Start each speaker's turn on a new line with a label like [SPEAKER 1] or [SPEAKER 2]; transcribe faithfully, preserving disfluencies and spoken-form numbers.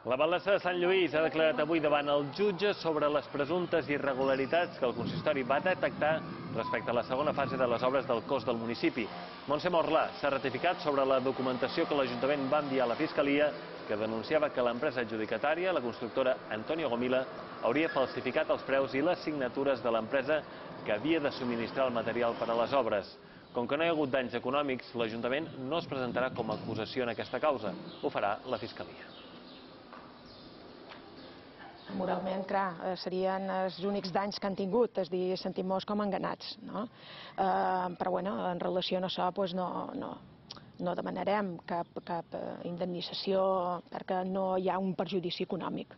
[SPEAKER 1] La Balança de Sant Lluís ha declarat avui davant el jutge sobre les presumptes irregularitats que el consistori va detectar respecte a la segona fase de les obres del cos del municipi. Montse Morlà s'ha ratificat sobre la documentació que l'Ajuntament va enviar a la Fiscalia, que denunciava que l'empresa adjudicatària, la constructora Antonio Gomila, hauria falsificat els preus i les signatures de l'empresa que havia de subministrar el material per a les obres. Com que no hi ha hagut danys econòmics, l'Ajuntament no es presentarà com a acusació en aquesta causa. Ho farà la Fiscalia.
[SPEAKER 2] Moralment, clar, serien els únics danys que han tingut, és dir, sentim-nos com enganats, no? Però, bueno, en relació a això, doncs no, no, no demanarem cap, cap indemnització perquè no hi ha un perjudici econòmic.